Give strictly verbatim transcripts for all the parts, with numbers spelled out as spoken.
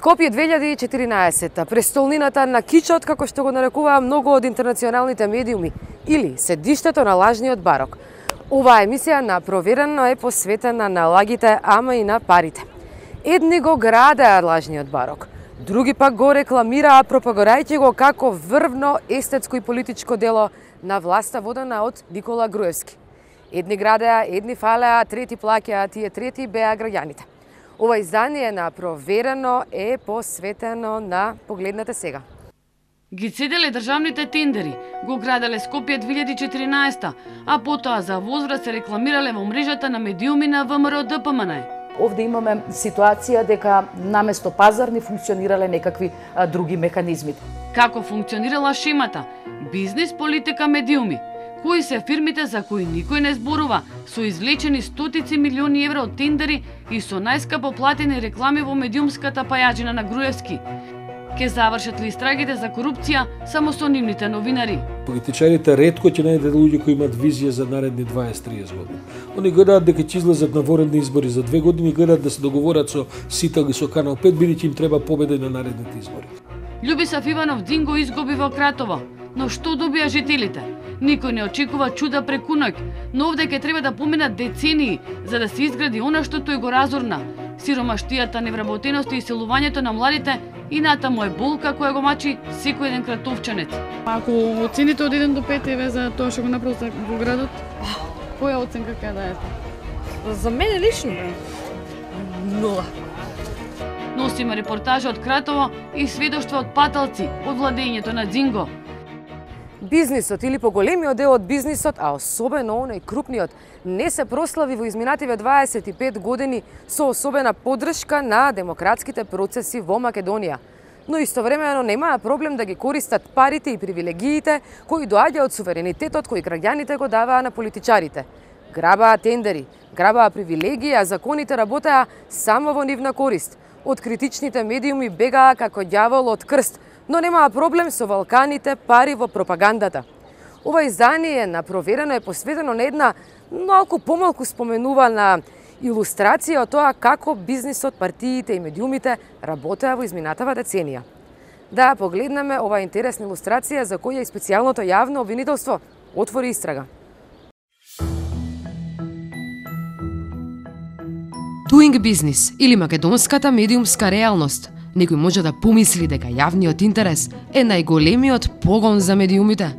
Скопје две илјади и четиринаесетта, престолнината на кичот, како што го нарекуваа многу од интернационалните медиуми, или седиштето на лажниот барок. Оваа емисија на Проверено е посветена на лагите, ама и на парите. Едни го градеа лажниот барок, други пак го рекламираа, пропагорајќи го како врвно естетско и политичко дело на власта водена од Никола Груевски. Едни градеа, едни фалеа, трети плаќаа, тие трети беа граѓаните. Ова издание на Проверено е посветено на погледнете сега. Ги цеделе државните тендери, го граделе Скопје две илјади и четиринаесетта, а потоа за возврат се рекламирале во мрежата на медиуми на ВМРО Д П М Н. Овде имаме ситуација дека наместо пазарни функционирале некакви а, други механизми. Како функционирала шемата? Бизнис, политика, медиуми. Кои се фирмите за кои никој не зборува, со извлечени стотици милиони евра од тендери и со најскапо платени реклами во медиумската пајаџина на Груевски. Ке завршат ли истрагите за корупција само со нивните новинари? Политичарите ретко ќе најдат луѓе кои имаат визија за наредни дваесет до триесет години. Они гледаат дека ќе излезат на воредни избори за две години, гледаат да се договорат со Сител и со Канал пет, бидејќи им треба победа на наредните избори. Љубисав Иванов Динго изгуби во Кратово, но што добија жителите? Никој не очекува чуда преку ноќ, но овде ќе треба да поминат децении за да се изгради она што тој го разорна. Сиромаштијата, невработеноста и иселувањето на младите и натаму е болка која го мачи секој еден кратовчанец. Ако оцените од еден до пет еве за тоа што го направи во градот, која оценка ќе даете? За мене лично нула. Носиме репортажа од Кратово и сведоштва од паталци од владењето на Дзинго. Бизнисот или поголемиот дел од бизнисот, а особено оној крупниот, не се прослави во изминативе дваесет и пет години со особена поддршка на демократските процеси во Македонија. Но истовремено немаа проблем да ги користат парите и привилегиите кои доаѓа од суверенитетот кои граѓаните го даваа на политичарите. Грабаа тендери, грабаа привилегии, а законите работеа само во нивна корист. Од критичните медиуми бегаа како ѓавол од крст, но немаа проблем со валканите пари во пропагандата. Ова издание на Проверено е посветено на една малку помалку споменувана илустрација од тоа како бизнисот, партиите и медиумите работеа во изминатава деценија. Да погледнеме ова интересна илустрација за која и специјалното јавно обвинителство отвори истрага. Doing Business или македонската медиумска реалност. Некој може да помисли дека јавниот интерес е најголемиот погон за медиумите.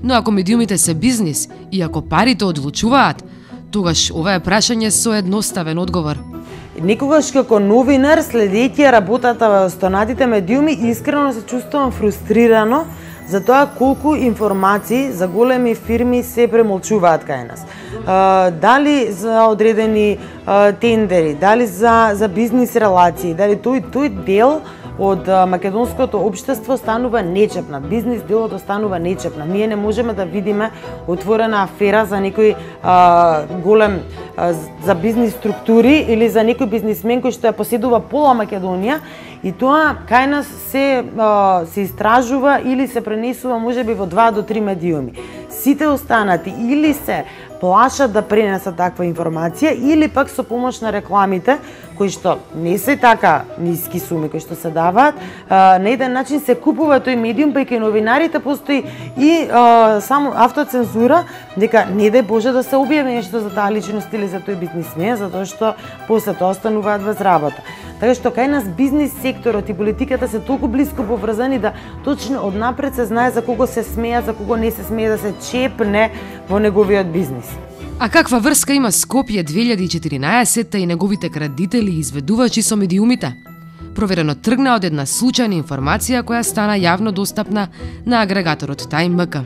Но ако медиумите се бизнис и ако парите одлучуваат, тогаш ова е прашање со едноставен одговор. Некогаш како новинар, следејќи работата во останатите медиуми, искрено се чувствувам фрустрирано за тоа колку информации за големи фирми се премолчуваат кај нас. Uh, дали за одредени uh, тендери, дали за, за бизнис релации, дали тој, тој дел од uh, македонското општество станува нечепнат, бизнис делот останува нечепнат. Ние не можеме да видиме отворена афера за некој uh, голем uh, за бизнис структури или за некој бизнисмен кој што ја поседува пола Македонија и тоа кај нас се, uh, се истражува или се пренесува можеби во два до три медиуми. Сите останати или се плашат да пренесат таква информација или пак со помош на рекламите кои што не се така ниски суми кои што се даваат, а, на еден начин се купува тој медиум, па и кај новинарите постои и а, само автоцензура дека не дај Боже да се објави нешто за таа личност или за тој бизнисмен, затоа што после тоа остануваат без работа. Така што кај нас бизнис секторот и политиката се толку блиско поврзани да точно однапред се знае за кого се смеа, за кого не се смее да се чепне во неговиот бизнис. А каква врска има Скопје две илјади и четиринаесетта и неговите крадители и изведувачи со медиумите? Проверено тргна од една случајна информација која стана јавно достапна на агрегаторот Time ем ка.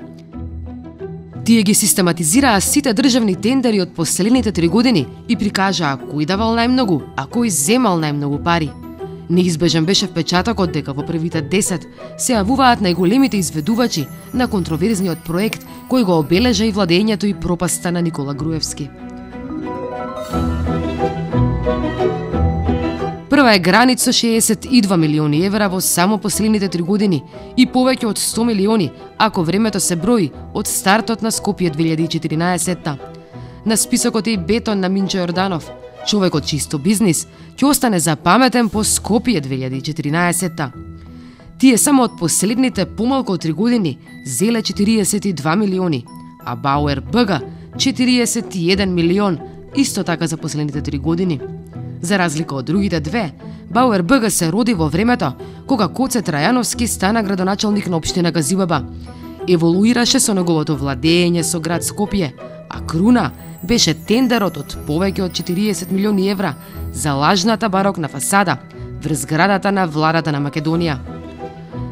Тие ги систематизираа сите државни тендери од последните три години и прикажаа кој давал најмногу, а кој земал најмногу пари. Неизбежен беше впечатокот дека во првите десет се јавуваат најголемите изведувачи на контроверзниот проект кој го обележа и владењето и пропаста на Никола Груевски. Прва е гранит со шеесет и два милиони евра во само последните три години и повеќе од сто милиони ако времето се брои од стартот на Скопје две илјади и четиринаесетта. На списокот е и бетон на Минчо Јорданов, Човекот чисто бизнис ќе остане запаметен по Скопје две илјади и четиринаесетта. Тие само од последните помалку од три години зеле четириесет и два милиони, а Бауер БГ четириесет и еден милион, исто така за последните три години. За разлика од другите две, Бауер БГ се роди во времето кога Коце Трајановски стана градоначалник на општина Газибаба. Еволуираше со неговото владење со град Скопје, а круна беше тендерот од повеќе од четириесет милиони евра за лажната барокна фасада врз зградата на владата на Македонија.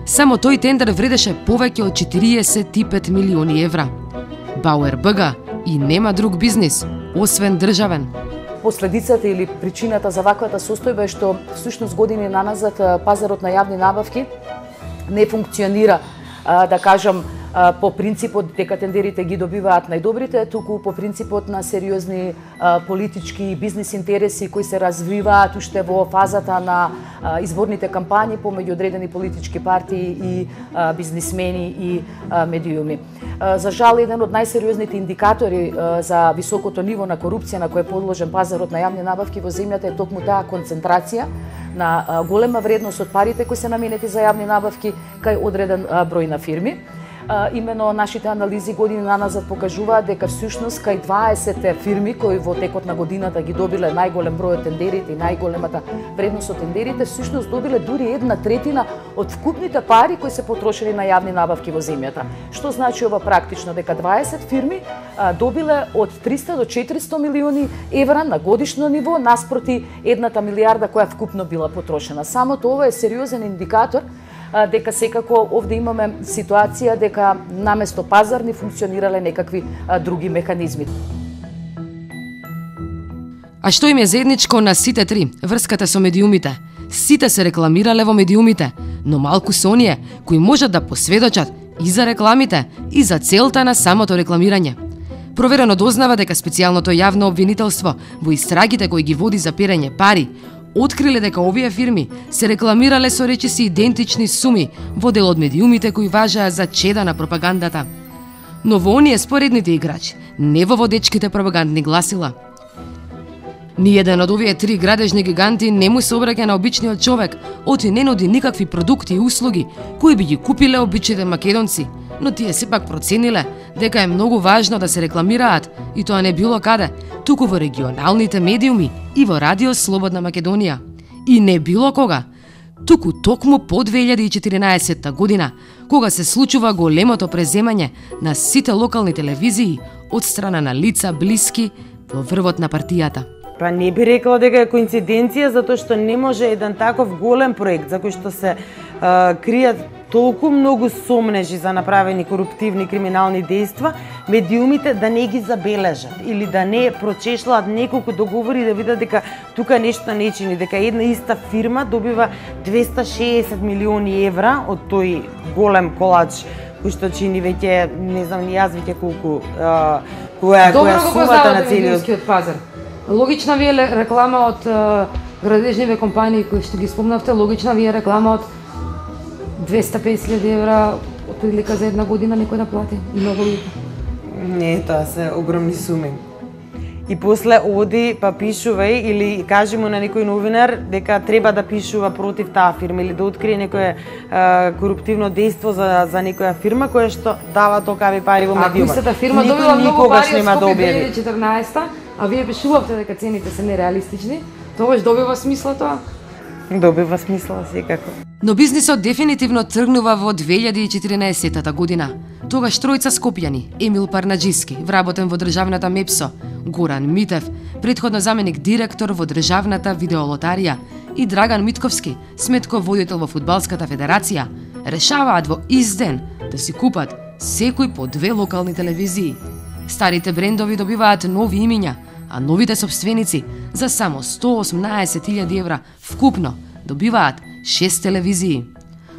Само тој тендер вредеше повеќе од четириесет и пет милиони евра. Бауер БГ и нема друг бизнис, освен државен. Последицата или причината за ваквата состојба е што всушност години наназад пазарот на јавни набавки не функционира, да кажам, по принципот дека тендерите ги добиваат најдобрите, туку по принципот на сериозни а, политички и бизнис интереси кои се развиваат уште во фазата на а, изборните кампањи помеѓу одредени политички партии и а, бизнисмени и а, медиуми. А, за жал, еден од најсериозните индикатори а, за високото ниво на корупција на кој е подложен пазарот на јавни набавки во земјата е токму таа концентрација на а, голема вредност од парите кои се наменети за јавни набавки кај одреден а, број на фирми. Uh, имено нашите анализи години наназад покажуваат дека всушност кај дваесет фирми кои во текот на годината ги добиле најголем број од тендерите и најголемата вредност од тендерите, всушност добиле дури една третина од вкупните пари кои се потрошени на јавни набавки во земјата. Што значи ова практично? Дека дваесет фирми uh, добиле од триста до четиристо милиони евра на годишно ниво наспроти едната милијарда која вкупно била потрошена. Само тоа е сериозен индикатор дека секако овде имаме ситуација дека наместо пазарни функционирале некакви а, други механизми. А што им е заедничко на сите три? Врската со медиумите. Сите се рекламирале во медиумите, но малку се оние кои можат да посведочат и за рекламите, и за целта на самото рекламирање. Проверено дознава дека специјалното јавно обвинителство во истрагите кои ги води за перење пари откриле дека овие фирми се рекламирале со речиси идентични суми во дел од медиумите кои важаа за чеда на пропагандата. Но во оние споредните играчи, не во водечките пропагандни гласила. Ниеден од овие три градежни гиганти не му се обраќа на обичниот човек, оти не нуди никакви продукти и услуги кои би ги купиле обичните македонци, но тие сепак процениле дека е многу важно да се рекламираат и тоа не било каде, туку во регионалните медиуми и во Радио Слободна Македонија. И не било кога, туку токму по две илјади и четиринаесетта година, кога се случува големото преземање на сите локални телевизии од страна на лица блиски во врвот на партијата. Па не би рекла дека е коинциденција, затоа што не може еден таков голем проект за кој што се а, кријат толку многу сомнежи за направени коруптивни криминални дејства, медиумите да не ги забележат или да не прочешлаат неколку договори да видат дека тука нешто не чини, дека една иста фирма добива двеста шеесет милиони евра од тој голем колач кој што чини веќе, не знам ни јас веќе колку, а, која, која сумата на целиот пазар. Логична ви е реклама од градежниве компании кои што ги спомнавте, логична ви е реклама од двеста и песет илјади евра од прилика за една година некој да плати. И многу луѓе. Не, тоа се огромни суми. И после оди па пишувај или кажи му на некој новинар дека треба да пишува против таа фирма или да открие некое а, коруптивно дејство за за некоја фирма која што дава токави пари во медиумот. Ако истата фирма никој добила многу никогаш пари нема од да Скопје објави. две илјади и четрнаесетта, а вие пишувавте дека цените се нереалистични, тогаш добива смисла тоа? Добива смисла секако. Но бизнисот дефинитивно тргнува во две илјади и четиринаесетта година. Тогаш тројца скопјани, Емил Парнаџиски, вработен во државната МЕПСО, Горан Митев, предходно заменик директор во државната видеолотарија, и Драган Митковски, сметков водител во Фудбалската федерација, решаваат во ист ден да си купат секој по две локални телевизии. Старите брендови добиваат нови имиња, а новите собственици за само сто осумнаесет илјади евра вкупно добиваат шест телевизии.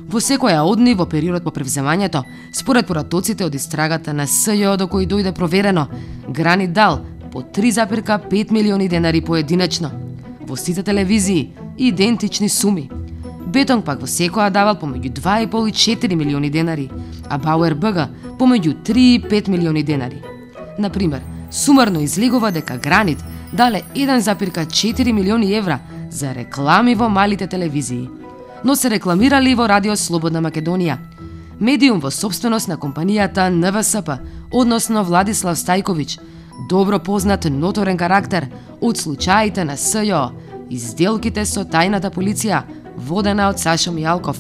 Во секоја од нив во периодот по превземањето, според поратоците од истрагата на СЈО до кој дојде проверено, Гранит дал по три запирка пет милиони денари поединечно. Во сите телевизии идентични суми. Бетонг пак во секоја давал помеѓу два и пол и четири милиони денари, а Бауер БГ помеѓу три и пет милиони денари. Например, сумарно излегува дека Гранит дале еден запирка четири милиони евра за реклами во малите телевизии. Но се рекламирали во Радио Слободна Македонија, медиум во собственост на компанијата Н В С П, односно Владислав Стајковиќ, добро познат ноторен карактер од случаите на С Ј О и сделките со тајната полиција, водена од Сашо Мијалков.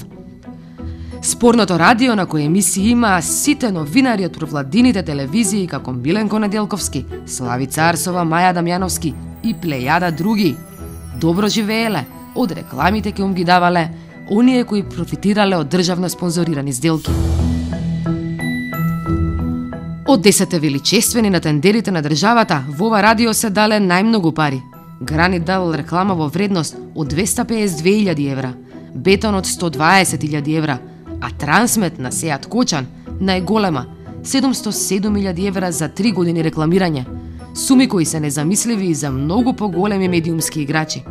Спорното радио на кој емисии има сите новинари од провладините телевизии како Миленко Неделковски, Славица Арсова, Маја Дамјановски и плејада други. Добро живееле, од рекламите ке им ги давале оние кои профитирале од државно спонзорирани сделки. Од десетте величествени на тендерите на државата, во ова радио се дале најмногу пари. Гранит дал реклама во вредност од двеста пеесет две илјади евра, Бетон од сто дваесет илјади евра, а Трансмет на Сеат Кочан најголема седумсто седум илјади евра за три години рекламирање. Суми кои се незамисливи и за многу поголеми медиумски играчи.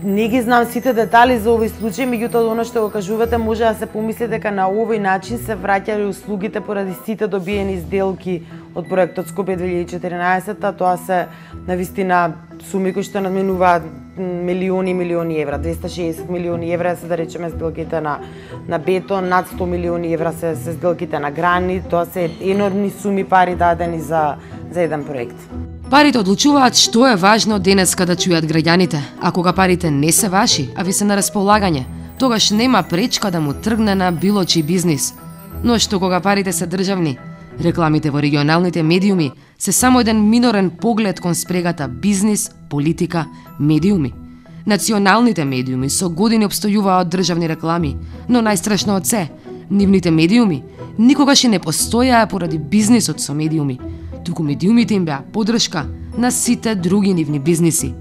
Не ги знам сите детали за овој случај, меѓутоа оно што го кажувате може да се помисли дека на овој начин се враќале услугите поради сите добиени сделки од проектот Скопје две илјади и четиринаесетта. Тоа се навистина суми кои што надминуваат милиони и милиони евра, двеста шеесет милиони евра се да речеме сделките на на Бетон, над сто милиони евра се, се сделките на Гранит. Тоа се енормни суми пари дадени за за еден проект. Парите одлучуваат што е важно денеска да чујат граѓаните, а кога парите не се ваши, а ви се на располагање, тогаш нема пречка да му тргне на било чиј бизнис. Но што кога парите се државни, рекламите во регионалните медиуми се само еден минорен поглед кон спрегата бизнис, политика, медиуми. Националните медиуми со години обстојуваат од државни реклами, но најстрашно од се, нивните медиуми никогаш и не постојаа поради бизнисот со медиуми, туку медиумите им беа подршка на сите други нивни бизниси.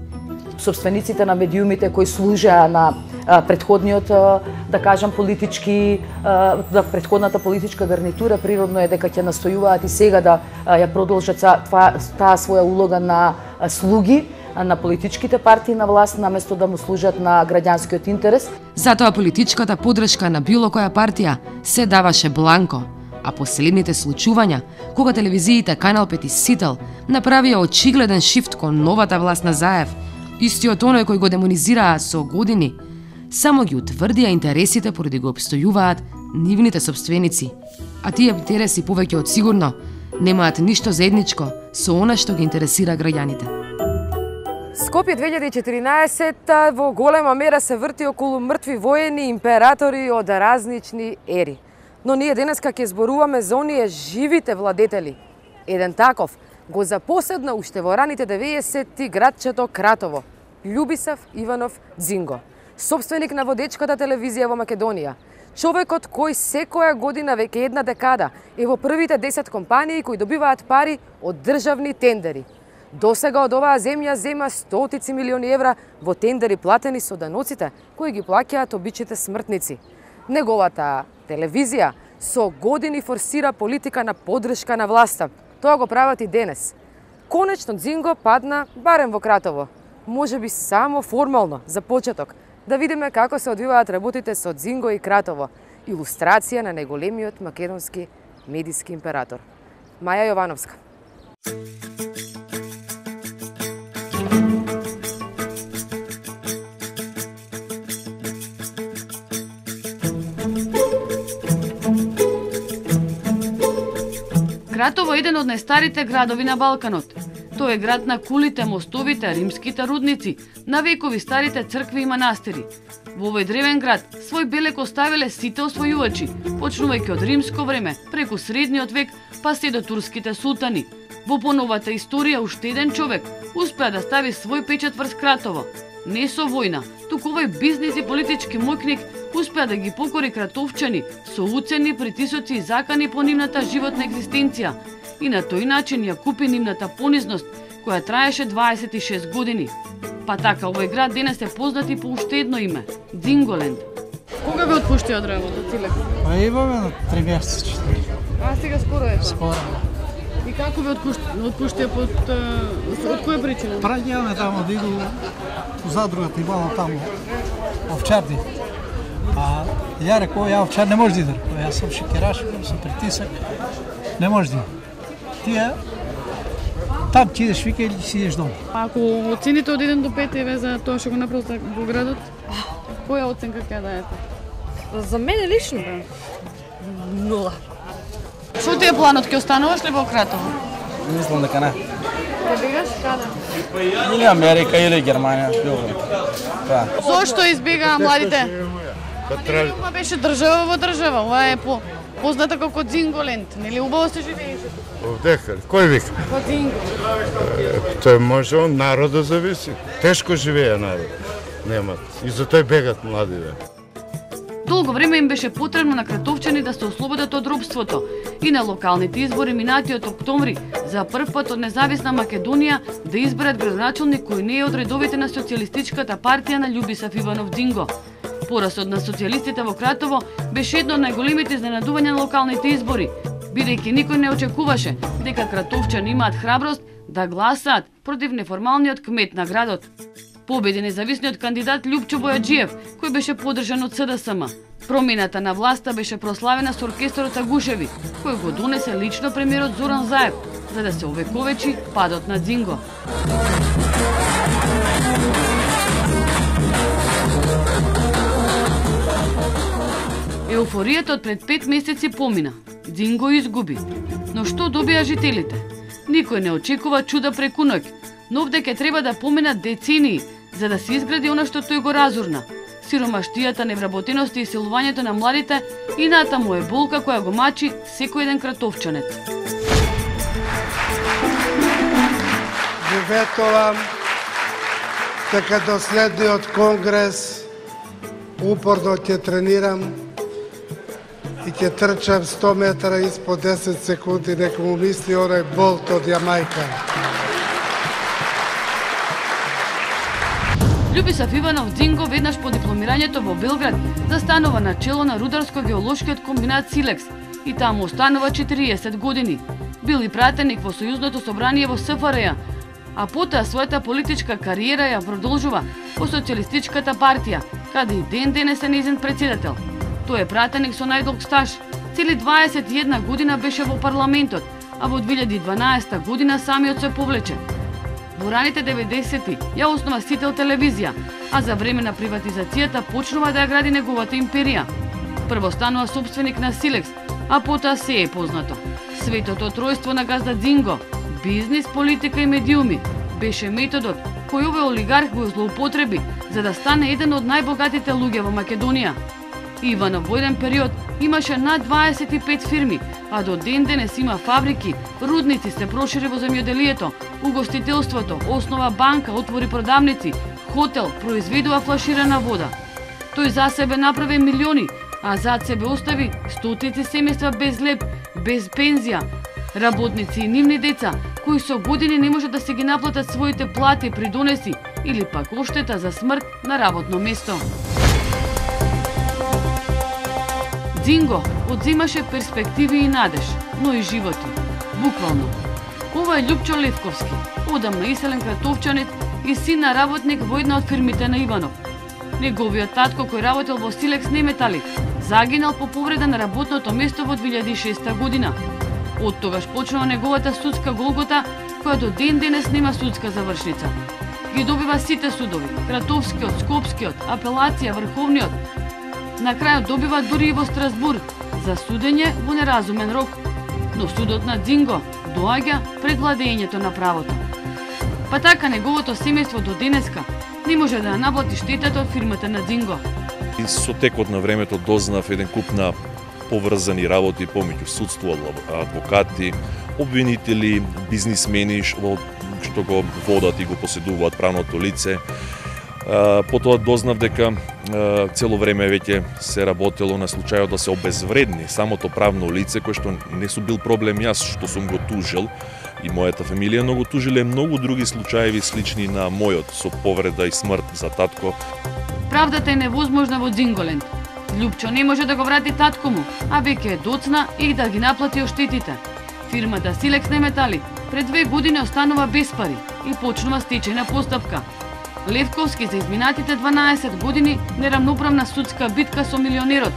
Собствениците на медиумите кои служеа на а, предходниот, а, да кажам, политички, а, да, предходната политичка гарнитура, природно е дека ќе настојуваат и сега да а, ја продолжат таа, таа своја улога на а, слуги на политичките партии на власт, наместо да му служат на граѓанскиот интерес. Затоа политичката подршка на било која партија се даваше бланко, а последните случувања, кога телевизиите Канал пет и Сител направија очигледен шифт кон новата власт на Заев, истиот оној кој го демонизираа со години, само ги утврдија интересите поради го обстојуваат нивните собственици. А тие интереси повеќе од сигурно немаат ништо заедничко со она што ги интересира граѓаните. Скопје две илјади и четиринаесетта во голема мера се врти околу мртви воени императори од разнични ери. Но ние денеска ќе зборуваме за оние живите владетели. Еден таков го запоседна уште во раните деветдесетти градчето Кратово, Љубисав Иванов Дзинго, собственик на водечката телевизија во Македонија. Човекот кој секоја година веќе една декада е во првите десет компании кои добиваат пари од државни тендери. Досега од оваа земја зема стотици милиони евра во тендери платени со даноците кои ги плаќаат обичните смртници. Неговата телевизија со години форсира политика на поддршка на власта. Тоа го прават и денес. Конечно Дзинго падна барем во Кратово. Може би само формално, за почеток, да видиме како се одвиваат работите со Дзинго и Кратово. Илустрација на најголемиот македонски медиски император. Маја Јовановска. Кратово е еден од најстарите градови на Балканот. Тој е град на кулите, мостовите, римските рудници, на векови старите цркви и манастири. Во овој древен град свој белек оставиле сите освојувачи, почнувајќи од римско време, преку средниот век, па се до турските султани. Во поновата историја уште еден човек успеа да стави свој печат врз Кратово. Не со војна, туку овој бизнис и политички моќник успеа да ги покори кратовчани со уцени, притисоци и закани по нивната животна екзистенција и на тој начин ја купи нивната понизност, која траеше дваесет и шест години. Па така, овој град денес е познат и по уште едно име – Дзинголенд. Кога ве отпушти од работа, Цилек? Па имаме на три месеци, четири. А, сега скоро е тоа? Скоро. И како ве отпушти под од која причина? Праѓаме таму да иду у задрugата имало таму овчарди. А ја рекол, ја овчар не може да иде. Јас сум шекераш, сум притисак, не може да иде. Тие Там ти идеш вика или си идеш дома. Ако оцените од еден до пет еве за тоа што го направите во градот, која оценка ќе даете? За мене лично нула. Што ти е планот? Ќе остануваш ли во Кратово? Мислам дека не. Ќе бегаш каде? Или Америка, или Германија, било да. Зошто избегаа младите? Ова беше држава во држава, ова е по позната како Дзинголенд, нели убаво се живееше? Овдека, кој вика? Во Дзинго. Тој може од народот зависи. Тешко живее народ. Немат. И за тој бегат младите. Долго време им беше потребно на кратовчани да се ослободат од робството и на локалните избори минатиот октомври за прв пат од независна Македонија да изберат градоначалник кој не е од редовите на социјалистичката партија на Љубисав Иванов Динго. Порасот на социјалистите во Кратово беше едно од најголемите изненадувања на локалните избори, бидејќи никој не очекуваше дека кратовчани имаат храброст да гласаат против неформалниот кмет на градот. Победи независниот кандидат Љупчо Бојаджиев, кој беше поддржан од С Д С М. Промената на власта беше прославена со оркестрот Агушеви, кој го донесе лично премиерот Зоран Заев, за да се овековечи падот на Дзинго. Еуфоријата од пред пет месеци помина. Дзинго изгуби. Но што добија жителите? Никој не очекува чуда преку ноќ, но овде ќе треба да поминат децении за да се изгради она што тој го разурна. Сиромаштијата, невработеноста и силувањето на младите и натаму е болка која го мачи секој еден кратовчанец. Ви ветувам дека до следниот конгрес упорно ќе тренирам и ќе трчам сто метра испод десет секунди, нека му мисли оној Болт од Јамајка. Љубисав Иванов Дзинго веднаш по дипломирањето во Белград застанува на чело на рударско-геолошкиот комбинат Силекс и таму останува четириесет години. Бил и пратеник во Сојузното собрание во С Ф Р Ј, а потоа својата политичка кариера ја продолжува во Социјалистичката партија, каде и ден денес е нејзин председател. Тој е пратеник со најдолг стаж. Цели дваесет и една година беше во парламентот, а во две илјади и дванаесета година самиот се повлече. Во раните деветдесети ја основа Сител телевизија, а за време на приватизацијата почнува да ја гради неговата империја. Прво станува собственик на Силекс, а потоа се е познато. Светото тројство на газда Дзинго, бизнис, политика и медиуми, беше методот кој овој олигарх го злоупотреби за да стане еден од најбогатите луѓе во Македонија. Иванов во еден период имаше над дваесет и пет фирми, а до ден денес има фабрики, рудници, се прошири во земјоделието, угостителството, основа банка, отвори продавници, хотел, произведува флаширана вода. Тој за себе направи милиони, а зад себе остави стотици семејства без леп, без пензија, работници и нивни деца, кои со години не може да се ги наплатат своите плати, придонеси или пак оштета за смрт на работно место. Дзинго одзимаше перспективи и надеж, но и животи. Буквално. Ова е Љупчо Левковски, одамна иселен кратовчанец и син на работник во една од фирмите на Иванов. Неговиот татко, кој работел во Силекс Неметали, загинал по повреда на работното место во две илјади и шеста година. Од тогаш почнува неговата судска голгота, која до ден денес нема судска завршница. Ги добива сите судови, Кратовскиот, Скопскиот, Апелација, Врховниот. На крајот добива дури и во Страсбург за судење во неразумен рок. Но судот на Дзинго доаѓа пред владењето на правото. Па така неговото семејство до денеска не може да ја наплати штетата од фирмата на Дзинго. И со текот на времето дознав еден куп на поврзани работи помеѓу судство, адвокати, обвинители, бизнисмени што го водат и го поседуваат правното лице. Потоа дознав дека цело време веќе се работело на случајот да се обезвредни самото правно лице, кој што не су бил проблем јас што сум го тужил и мојата фамилија, но го тужиле многу други случаеви слични на мојот со повреда и смрт за татко. Правдата е невозможна во Дзинголенд. Љупчо не може да го врати татко му, а веќе е доцна и да ги наплати оштетите. Фирмата Силекс Неметали пред две години останува без пари и почнува стечајна постапка. Левковски за изминатите дванаесет години нерамноправна судска битка со милионерот,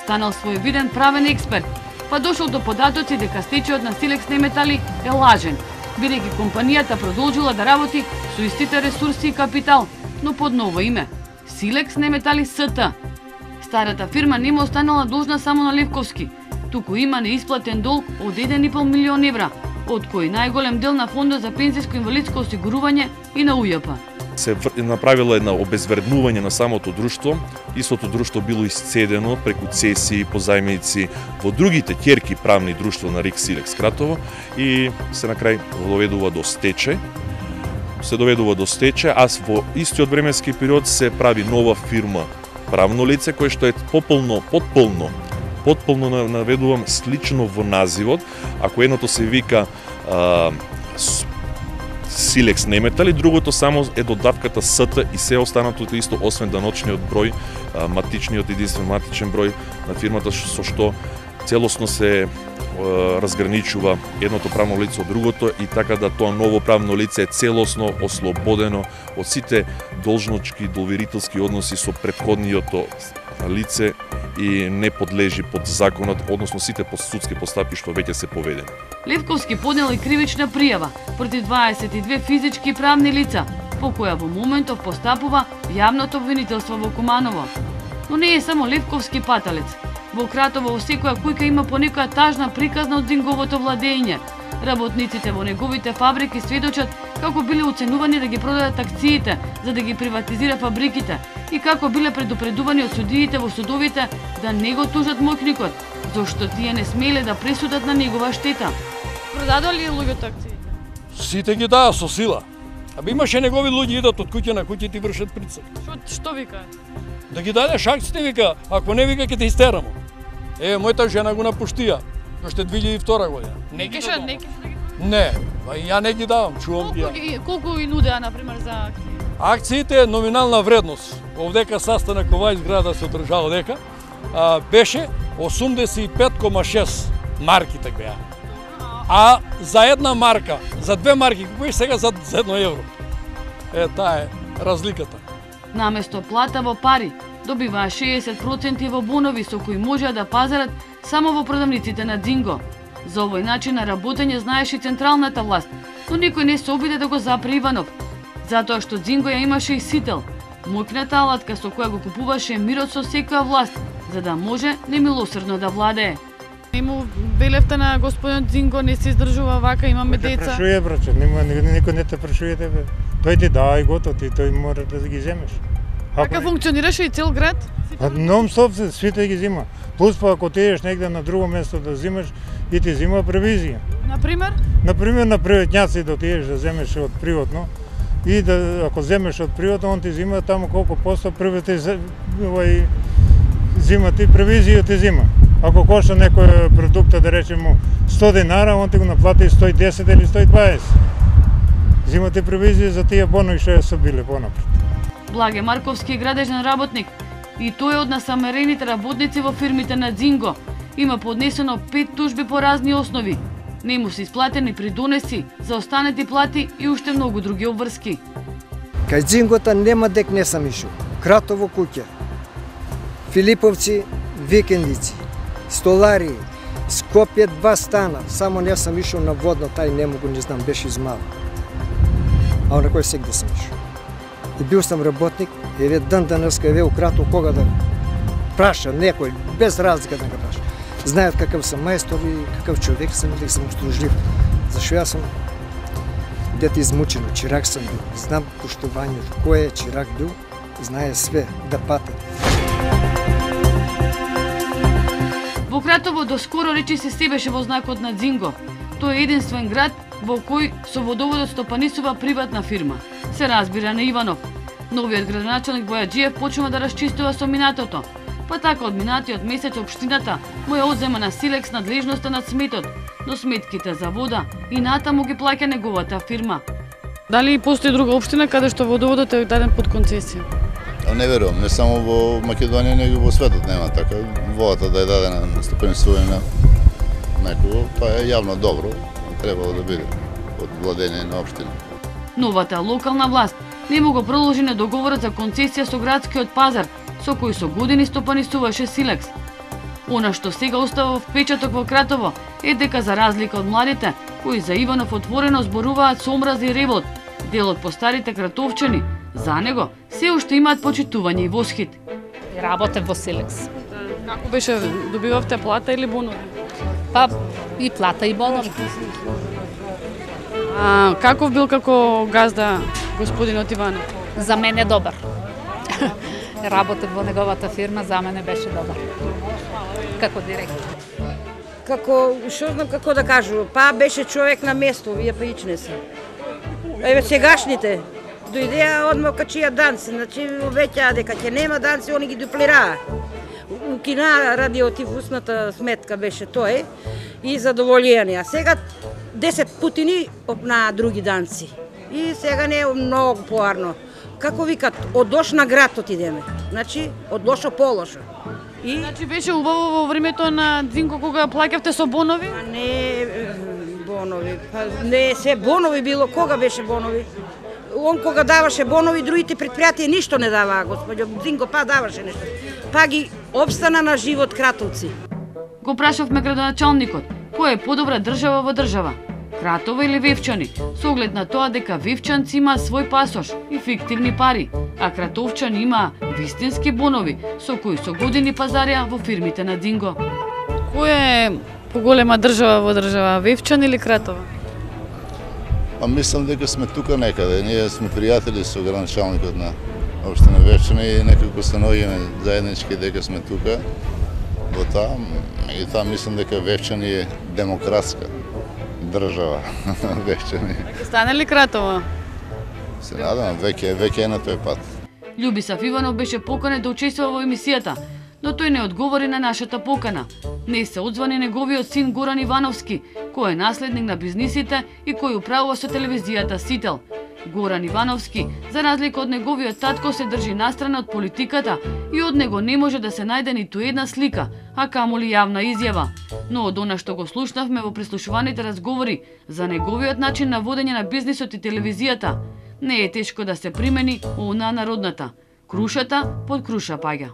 станал своевиден правен експерт, па дошол до податоци дека стечајот на Силекс Неметали е лажен бидејќи компанијата продолжила да работи со истите ресурси и капитал, но под ново име – Силекс Неметали СТ. Старата фирма нема останала должна само на Левковски, туку има неисплатен долг од еден и пол милион евра, од кој најголем дел на Фондот за пензиско инвалидско осигурување и на УЈП. Се направила една обезвреднување на самото друштво, истото друштво било исцедено преку цесии, позајмици во другите ќерки правни друштва на РИК Силекс Кратово и се на крај доведува до стечај. Се доведува до стечај, а во истиот временски период се прави нова фирма правно лице кое што е пополно, потполно, потполно наведувам слично во називот, ако едното се вика а, Силекс Неметали, другото само е додатката СТ и се останатото исто, освен даночниот број, а, матичниот единствен матичен број на фирмата, со што целосно се разграничува едното правно лице од другото и така да тоа ново правно лице е целосно ослободено од сите должнички доверителски односи со претходниото лице и не подлежи под законот, односно сите судски постапки што веќе се поведени. Левковски поднел и кривична пријава против дваесет и две физички и правни лица, по која во моментов постапува јавното обвинителство во Куманово. Но не е само Левковски паталец. Во Кратово во секоја кујка има по некоја тажна приказна од Зинговото владење. Работниците во неговите фабрики сведочат како биле уценувани да ги продадат акциите за да ги приватизира фабриките и како биле предупредувани од судиите во судовите да не го тужат моќникот, зашто тие не смеле да пресудат на негова штета. Продадоа ли луѓето акциите? Сите ги даа со сила. Абе имаше негови луѓе идат од куќа на куќа и ти вршат притисак. Што што вика? Да ги дадеш акциите, вика, ако не вика ќе те истерамо. Е, мојата жена го напуштија, уште две илјади и втора година. Не кеше, не кеше да ги... Не, ја не ги давам, чувам ги. Колку, колку ги нудеа, например, за акции? Акциите е номинална вредност. Овдека sastanak ова изграда се одржава дека, а, беше осумдесет и пет кома шест марките беа. А за една марка, за две марки, купиш сега за, за едно евро. Е, таа е разликата. Наместо плата во пари, добиваа шеесет проценти во бонови со кои можеа да пазарат само во продавниците на Дзинго. За овој начин на работење знаеше и централната власт, но никој не се обиде да го запре Иванов, затоа што Дзинго ја имаше и сител, моќната алатка со која го купуваше мирот со секоја власт, за да може немилосрдно да владее. Нему велевте на господин Дзинго не се издржува вака, имаме деца. Не прашуе, браче, никој не те прашуе тебе. Тој ти дава и готов, ти тој мора да ги земеш. Така функционираше и цел град? Нон-стоп сите ги зима. Плюс па ако тееш негде на друго место да зимаш и ти зима превизија. Например? Например на приватњаци да отидеш да земеш од приватно и да ако земеш од приватно он ти зима таму колку посто првите овај зима ти превизија ти зима. Ако кошта некој продукт да речеме сто динара, он ти го наплати сто и десет или сто и дваесет. Зимате превизија за тие бонови што се биле понапред. Благе Марковски е градежен работник и тој е од насамерените работници во фирмите на Дзинго. Има поднесено пет тужби по разни основи. Не му се исплатени придонеси, заостанати плати и уште многу други обврски. Кај Дзингота нема дек не сам ишо. Кратово куќа, Филиповци викендици, Столари, Скопје два стана, само не сам ишо на водно, тај не могу, не знам, беше измал. А на кој сегде сам ишо. И бил сам работник, еве ден денеска, еве у Кратово кога да праша некој, без разлика да го праша. Знаат какав сам мајстор и какав човек сам и да сам услужлив. Зашо јас сум дете измучено, чирак сам бил. Знам поштувањето, кој е чирак бил, знае све, да пате. Во Кратово доскоро речи се се беше во знакот на Дзинго. Тој е единствен град во кој со водоводот стопанисува приватна фирма. Се разбира на Иванов. Новиот градоначалник Бојаджиев почнува да расчистува со минатото. Па така од минатиот месец општината му ја одзема на Силекс надлежноста над сметот, но сметките за вода и натаму ги плаќа неговата фирма. Дали постои друга општина каде што водоводот е даден под концесија? Не верувам, не само во Македонија, него во светот нема така. Водата да е дадена на стопанисување на некого, тоа е јавно добро, требало да биде од владење на општина. Новата локална власт не му го продолжи на договорот за концесија со градскиот пазар, со кој со години стопанисуваше Силекс. Она што сега остава впечаток во Кратово е дека за разлика од младите, кои за Иванов отворено зборуваат со омраза и ревот. Делот по старите кратовчани за него се уште имаат почитување и восхит. Работев во Силекс. Како беше, добивавте плата или бонови? Па и плата и бонови. А каков бил како газда господинот Иванов? За мене добар. Работев во неговата фирма, за мене беше добар. Како директор. Како, што знам како да кажу, па беше човек на место, вие па ичне се. Еве сегашните дојдеа одма качија данци, значи веќе дека ќе нема данци, они ги дуплираа. Укина радиотифусната сметка беше тој и задоволјени. А сега десет путини на други данци. И сега не е многу поарно. Како викат, од лош на град отидеме. Значи, од лошо по лошо. И... Значи беше убаво во времето на Дзинко кога плаќавте со бонови? А не бонови, па не се бонови било, кога беше бонови? Он кога даваше бонови, другите предпријатија ништо не даваа, господјо Дзинко па даваше нешто. Па ги обстана на живот Кратовци. Го прашавме градоначалникот, која е подобра држава во држава? Кратово или Вевчани, со оглед на тоа дека Вевчанци има свој пасош и фиктивни пари, а Кратовчани има вистински бонови со кои со години пазарија во фирмите на Динго. Која е поголема држава во држава, Вевчани или Кратово? Па мислам дека сме тука некаде, ние сме пријатели со градоначалникот на општина Вевчани и некако се наоѓаме заеднички дека сме тука. Во таа, и таа мислам дека Вевчани е демократска држава. Вевчани. Стане ли Кратово? Се надам, веќе веќе е на тој пат. Љубисав Иванов беше поканет да учествува во емисијата, но тој не одговори на нашата покана. Не се одзвани неговиот син Горан Ивановски, кој е наследник на бизнисите и кој управува со телевизијата Сител. Горан Ивановски, за разлика од неговиот татко, се држи настрана од политиката и од него не може да се најде ниту една слика, а камоли јавна изјава. Но од она што го слушнавме во прислушуваните разговори за неговиот начин на водење на бизнисот и телевизијата, не е тешко да се примени она народната. Крушата под круша паѓа.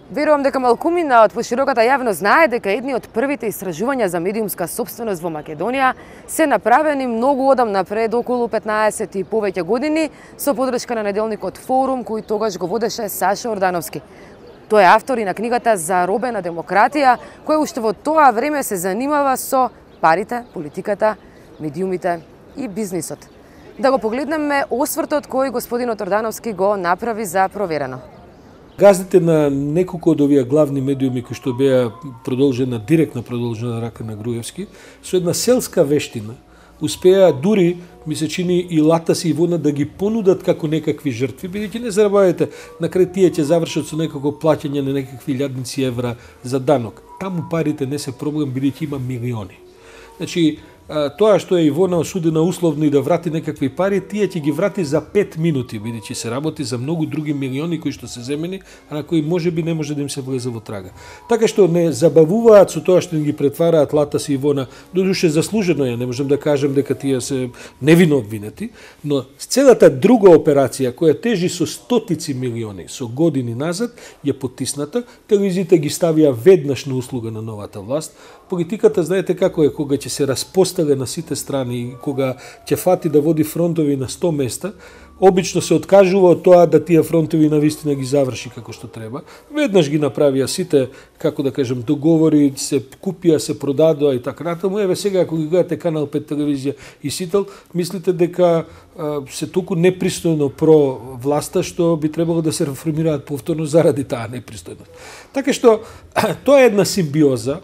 Верувам дека малкумина од пошироката јавност знае дека едни од првите истражувања за медиумска собственост во Македонија се направени многу одамна, пред околу петнаесет и повеќе години, со подршка на неделникот Форум, кој тогаш го водеше Саша Ордановски. Тој е автор и на книгата Заробена демократија, која уште во тоа време се занимава со парите, политиката, медиумите и бизнисот. Да го погледнеме освртот кој господинот Ордановски го направи за проверено. Газдите на неколку од овие главни медиуми кои што беа продолжена, директно продолжена рака на Груевски, со една селска вештина, успеа дури, ми се чини, и Латас и Ивона да ги понудат како некакви жртви, бидејќи не зарабавајте, на крај тие ќе завршат со некако плаќање на некакви илјадници евра за данок. Таму парите не се проблем, бидејќи има милиони. Значи, тоа што е Ивона осудена условно и да врати некакви пари, тие ќе ги врати за пет минути, бидејќи се работи за многу други милиони кои што се земени, а на кои можеби не може да им се влезе во трага. Така што не забавуваат со тоа што им ги претвараат Латас и Ивона, додуше заслужено е, не можам да кажам дека тие се невино обвинети, но целата друга операција која тежи со стотици милиони со години назад ја потисната, телевизиите ги ставија веднаш на услуга на новата власт. Политиката знаете како е, кога ќе се распостеле на сите страни и кога ќе фати да води фронтови на сто места, обично се откажува од тоа да тие фронтови навистина ги заврши како што треба. Веднаш ги направија сите, како да кажем, договори, се купија, се продадоа и така натаму. Еве сега ако ги гледате Канал пет телевизија и Сител, мислите дека а, се толку непристојно про власта што би требало да се реформираат повторно заради таа непристојност. Така што тоа е една симбиоза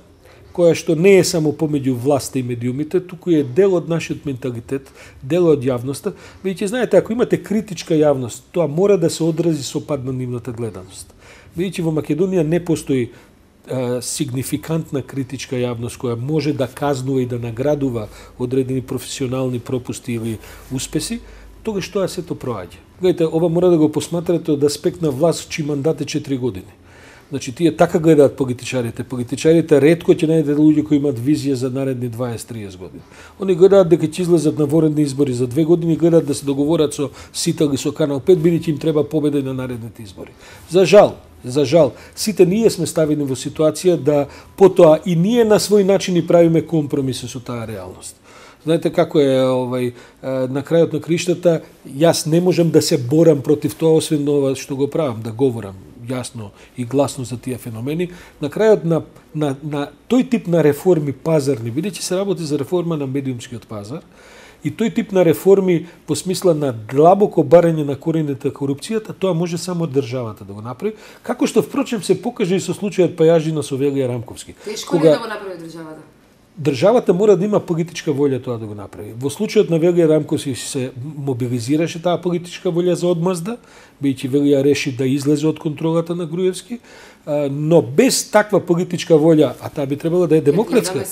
која што не е само помеѓу власта и медиумите, туку е дел од нашиот менталитет, дел од јавноста. Бидејќи знаете, ако имате критичка јавност, тоа мора да се одрази со пад на нивната гледаност. Бидејќи во Македонија не постои е, сигнификантна критичка јавност која може да казнува и да наградува одредени професионални пропусти или успеси, тогаш тоа сето проаѓа. Гледате, ова мора да го посматрате од аспект на власт чии мандат е четири години. Значи, тие така гледаат политичарите. Политичарите ретко ќе најдете луѓе кои имаат визија за наредни дваесет до триесет години. Они гледаат дека ќе излезат на воредни избори за две години, гледаат да се договорат со Сител и со Канал пет, бидејќи им треба победа на наредните избори. За жал, За жал, сите ние сме ставени во ситуација да потоа и ние на свој начин и правиме компромиси со таа реалност. Знаете како е, овај, на крајот на криштата, јас не можам да се борам против тоа, освен ова што го правам, да говорам јасно и гласно за тие феномени. На крајот на, на, на тој тип на реформи пазарни, бидејќи се работи за реформа на медиумскиот пазар, и тој тип на реформи по смисла на длабоко барање на корените корупцијата, тоа може само државата да го направи, како што впрочем се покаже и со случајот Пајажина со Велија Рамковски. Тешко ли е да го направи државата? Државата мора да има политичка волја тоа да го направи. Во случајот на Велија Рамковски се мобилизираше таа политичка волја за одмазда, бидејќи Велија реши да излезе од контролата на Груевски, но без таква политичка волја, а таа би требала да е демократска.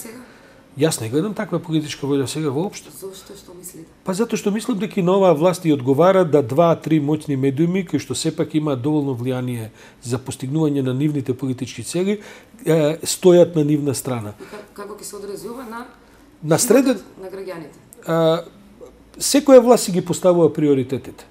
Јас не гледам таква политичка волја сега воопшто. Зошто, што мислите? Па затоа што мислам дека и на оваа власт и одговара да два-три моćни медиуми кои што сепак имаат доволно влијание за постигнување на нивните политички цели, стојат на нивна страна. И како ќе се одрази ова на на среден на граѓаните? Секоја власт си ги поставува приоритетите.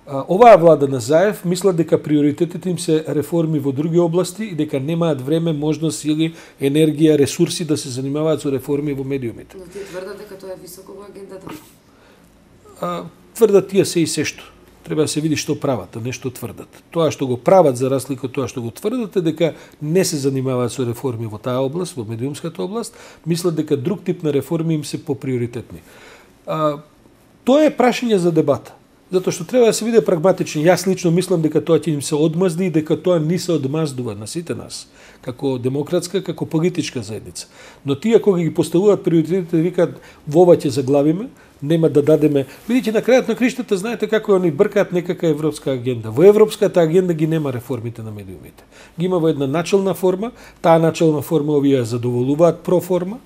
Оваа влада на Заев мисла дека приоритетите им се реформи во други области и дека немаат време, можност или енергија, ресурси да се занимаваат со реформи во медиумите. Но тие тврдат дека тоа е високо во агендата. А, тврдат тие се и сешто. Треба да се види што прават, а не што тврдат. Тоа што го прават за разлика од тоа што го тврдат е дека не се занимаваат со реформи во таа област, во медиумската област, мислат дека друг тип на реформи им се поприоритетни. А, тоа е прашање за дебата. Затоа што треба да се биде прагматичен. Јас лично мислам дека тоа ќе им се одмазди и дека тоа ни се одмаздува на сите нас, како демократска, како политичка заедница. Но тие кога ги поставуваат приоритетите, викаат во ова ќе заглавиме, нема да дадеме, бидејќи на крајот на криштата знаете како они бркаат некака европска агенда. Во европската агенда ги нема реформите на медиумите. Ги има во една начална форма, таа начална форма овие задоволуваат проформа,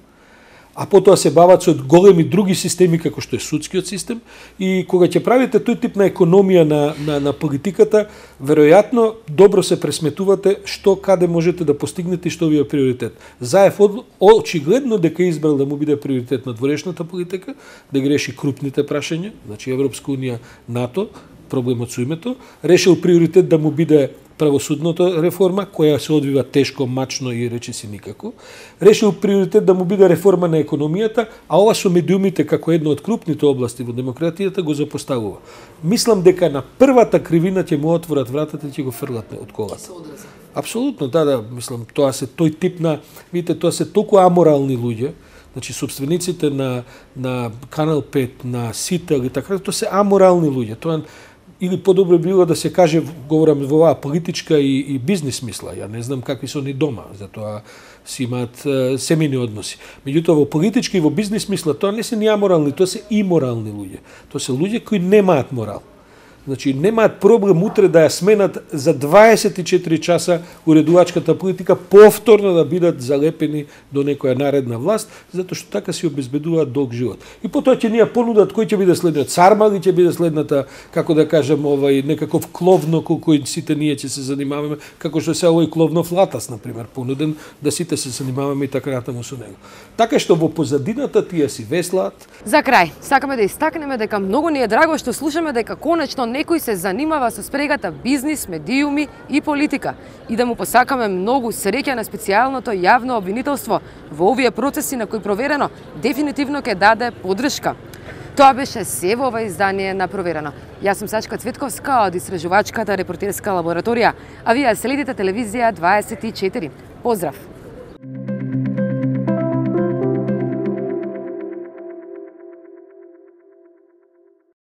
а потоа се бават со големи други системи како што е судскиот систем и кога ќе правите тој тип на економија на, на, на политиката, веројатно добро се пресметувате што каде можете да постигнете и што ви е приоритет. Заев очигледно дека избрал да му биде приоритет на дворешната политика, да ги реши крупните прашања, значи Европска унија, НАТО, проблемот со името, решил приоритет да му биде правосудната реформа, која се одвива тешко, мачно и речиси никако. Решил приоритет да му биде реформа на економијата, а ова со медиумите како една од крупните области во демократијата го запоставува. Мислам дека на првата кривина ќе му отворат вратата и ќе го фрлат од колата. Апсолутно, да, да, мислам, тоа се тој тип на, видите, тоа се толку аморални луѓе, значи собствениците на на Канал пет, на Сител и така, тоа се аморални луѓе. Тоа или подобро било да се каже, говорам во оваа политичка и, и бизнес мисла. Ја не знам какви се они дома, затоа си имаат е, семејни односи. Меѓутоа во политички и во бизнес мисла тоа не се ни аморални, тоа се иморални луѓе. Тоа се луѓе кои немаат морал. Значи немаат проблем утре да ја сменат за дваесет и четири часа уредувачката политика, повторно да бидат залепени до некоја наредна власт, затоа што така си обезбедуваат долг живот. И потоа ќе ни ја понудат кој ќе биде следниот Сарма или ќе биде следната, како да кажем, овај некаков кловно кој сите ние ќе се занимаваме, како што се овој кловнов латас на пример, понуден да сите се занимаваме и така натаму со него. Така што во позадината тие си веслаат. За крај, сакаме да истакнеме дека многу ни е драго што слушаме дека конечно некој се занимава со спрегата бизнис, медиуми и политика и да му посакаме многу среќа на специјалното јавно обвинителство во овие процеси на кои проверено дефинитивно ќе даде поддршка. Тоа беше се во ова издание на Проверено. Јас сум Сачка Цветковска од Истражувачката репортерска лабораторија, а вие следите телевизија дваесет и четири. Поздрав!